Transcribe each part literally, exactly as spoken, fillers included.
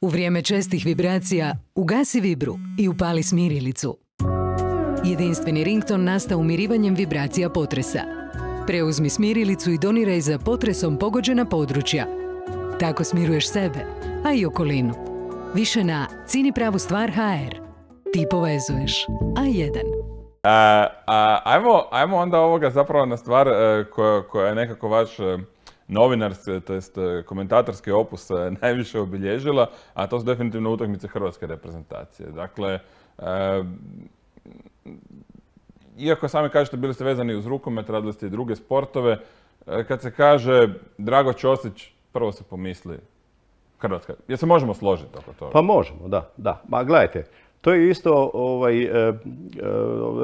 U vrijeme čestih vibracija ugasi vibru i upali smirilicu. Jedinstveni rington nastao umirivanjem vibracija potresa. Preuzmi smirilicu i doniraj za potresom pogođena područja. Tako smiruješ sebe, a i okolinu. Više na Cini pravu stvar ha er. Ti povezuješ. A jedan. A, a, ajmo, ajmo onda ovoga zapravo na stvar uh, koja, koja je nekako vaš uh, novinarski, to jest uh, komentatorski opus uh, najviše obilježila, a to su definitivno utakmice hrvatske reprezentacije. Dakle, uh, iako sami kažete bili ste vezani uz rukomet, radili ste i druge sportove, uh, kad se kaže Drago Ćosić, prvo se pomisli Hrvatska. Jel se možemo složiti oko toga? Pa možemo, da. da. Ma gledajte, to je isto, ovaj, e, e,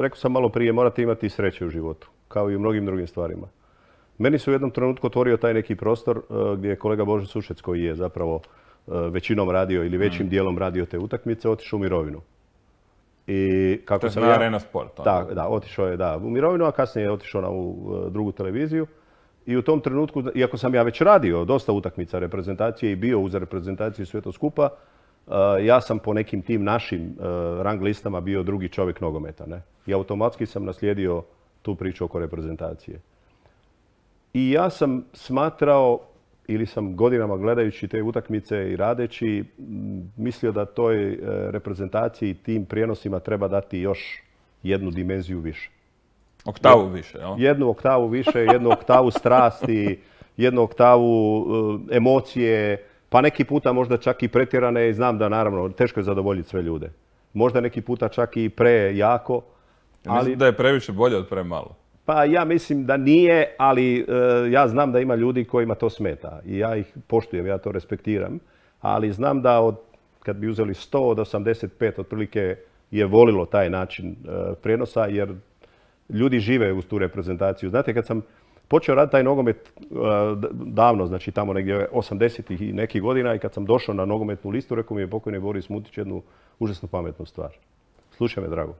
rekao sam malo prije, morate imati sreće u životu, kao i u mnogim drugim stvarima. Meni se u jednom trenutku otvorio taj neki prostor e, gdje je kolega Božo Sušec, koji je zapravo e, većinom radio ili većim mm. dijelom radio te utakmice, otišao u mirovinu. I kako to je sam na ja, Arena Sport. Da, da, otišao je da, u mirovinu, a kasnije je otišao na ovu drugu televiziju. I u tom trenutku, iako sam ja već radio dosta utakmica reprezentacije i bio uz reprezentaciju sve to skupa, Uh, ja sam po nekim tim našim uh, rang listama bio drugi čovjek nogometa. Ne? I automatski sam naslijedio tu priču oko reprezentacije. I ja sam smatrao, ili sam godinama gledajući te utakmice i radeći, mislio da toj uh, reprezentaciji i tim prijenosima treba dati još jednu dimenziju više. Oktavu više, jel? Jednu oktavu više, jednu oktavu strasti, jednu oktavu uh, emocije, pa neki puta možda čak i pretjerane i znam da naravno teško je zadovoljiti sve ljude. Možda neki puta čak i prejako. Ja mislim ali, da je previše bolje od premalo. Pa ja mislim da nije, ali uh, ja znam da ima ljudi kojima to smeta. I ja ih poštujem, ja to respektiram. Ali znam da od, kad bi uzeli sto od osamdeset pet otprilike je volilo taj način uh, prijenosa jer ljudi žive uz tu reprezentaciju. Znate, kad sam počeo raditi taj nogomet uh, davno, znači tamo negdje osamdesetih i nekih godina i kad sam došao na nogometnu listu, rekao mi je pokojni Boris Mutić jednu užasno pametnu stvar. Slušaj me, Drago.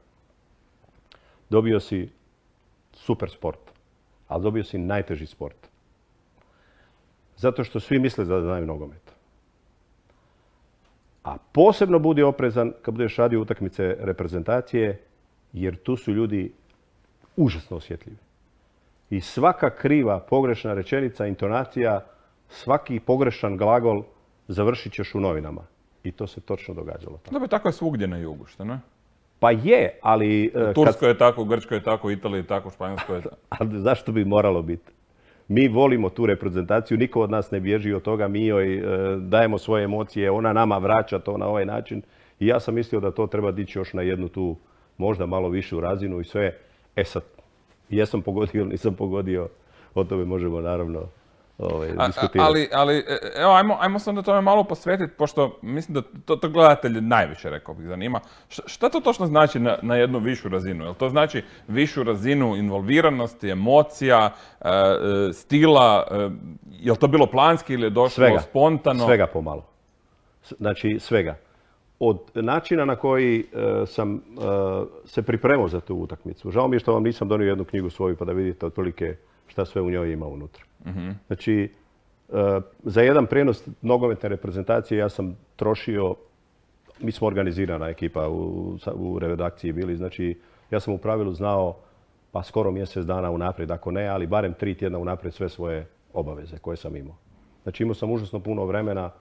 Dobio si super sport, ali dobio si najteži sport. Zato što svi misle da znaju nogomet. A posebno budi oprezan kad budeš radio utakmice reprezentacije, jer tu su ljudi užasno osjetljivi. I svaka kriva, pogrešna rečenica, intonacija, svaki pogrešan glagol završit ćeš u novinama. I to se točno događalo. Dobro, tako je svugdje na jugu, što ne? Pa je, ali... U Turskoj kad... je tako, u Grčkoj je tako, u Italiji je tako, u Španjolskoj je tako. Ali zašto bi moralo biti? Mi volimo tu reprezentaciju, niko od nas ne bježi od toga, mi joj e, dajemo svoje emocije, ona nama vraća to na ovaj način. I ja sam mislio da to treba dići još na jednu tu, možda malo višu razinu i sve. E sad, jesam pogodio ili nisam pogodio, o tome možemo naravno ovaj, diskutirati. Ali, ali evo, ajmo, ajmo se onda tome malo posvetiti, pošto mislim da to, to gledatelje najviše, rekao bih, zanima. Š, šta to točno znači na, na jednu višu razinu? Jel to znači višu razinu involviranosti, emocija, e, stila? E, je li to bilo planski ili je došlo svega, spontano? Svega pomalo. Znači, svega. Od načina na koji uh, sam uh, se pripremao za tu utakmicu. Žao mi je što vam nisam donio jednu knjigu svoju pa da vidite otprilike šta sve u njoj ima unutra. Mm-hmm. Znači, uh, za jedan prijenos nogometne reprezentacije ja sam trošio, mi smo organizirana ekipa u, u redakciji bili, znači ja sam u pravilu znao pa skoro mjesec dana unaprijed, ako ne, ali barem tri tjedna unaprijed sve svoje obaveze koje sam imao. Znači imao sam užasno puno vremena,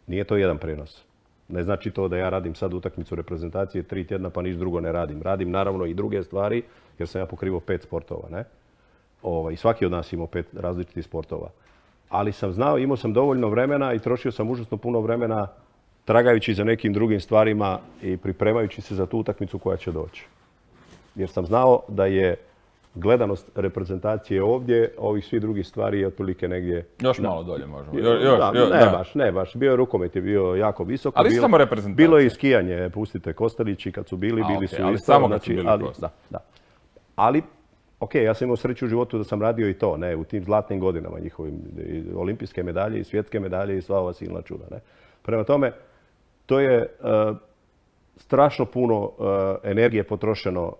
nije to jedan prijenos. Ne znači to da ja radim sad utakmicu reprezentacije tri tjedna pa niš drugo ne radim. Radim naravno i druge stvari jer sam ja pokrivao pet sportova. Ne? Ovaj, svaki od nas imao pet različitih sportova. Ali sam znao, imao sam dovoljno vremena i trošio sam užasno puno vremena tragajući za nekim drugim stvarima i pripremajući se za tu utakmicu koja će doći. Jer sam znao da je gledanost reprezentacije ovdje, ovih svih drugih stvari je otprilike negdje... Još na... malo dolje možemo. Jo, još, da, jo, ne da. baš, ne baš. Bio je rukomet, je bio jako visoko. Ali bilo, samo reprezentacija. Bilo je i skijanje, pustite, Kostelići kad su bili, A, bili okay, su ali isto. samo znači, kad su bili ali, prosto. da, da. Ali, ok, ja sam imao sreću u životu da sam radio i to, ne, u tim zlatnim godinama njihovim, i olimpijske medalje i svjetske medalje i sva ova silna čuda, ne. Prema tome, to je uh, strašno puno uh, energije potrošeno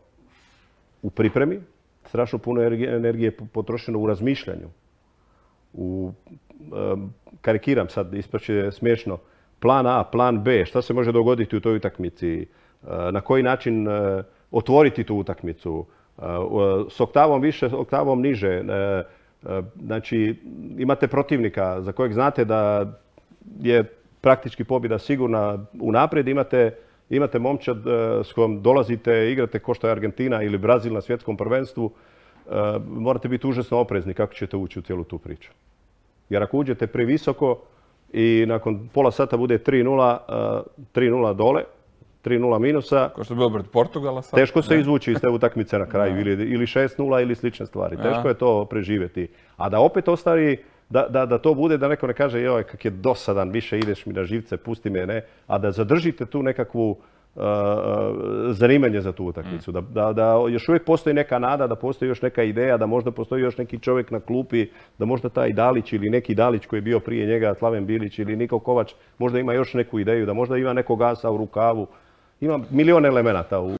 u pripremi, strašno puno energije potrošeno u razmišljanju. U, um, karikiram sad, ispaće smiješno, plan A, plan B, šta se može dogoditi u toj utakmici, na koji način otvoriti tu utakmicu, s oktavom više, s oktavom niže. Znači, imate protivnika za kojeg znate da je praktički pobjeda sigurna unaprijed, imate, imate momčad s kojom dolazite, igrate ko što je Argentina ili Brazil na svjetskom prvenstvu, morate biti užasno oprezni kako ćete ući u cijelu tu priču. Jer ako uđete previsoko i nakon pola sata bude tri nula, tri nula dole, tri nula minusa, ko što je bilo pred Portugala sad, teško se izvući iz te utakmice na kraju, ili, ili šest nula ili slične stvari. Teško je to preživjeti. A da opet ostari, da, da, da to bude, da neko ne kaže joj kak je dosadan, više ideš mi na živce, pusti me, ne, a da zadržite tu nekakvu uh, zanimanje za tu utakmicu. Da, da, da još uvijek postoji neka nada, da postoji još neka ideja, da možda postoji još neki čovjek na klupi, da možda taj Dalić ili neki Dalić koji je bio prije njega, Slaven Bilić ili Niko Kovač, možda ima još neku ideju, da možda ima nekog asa u rukavu. Ima milion elemenata u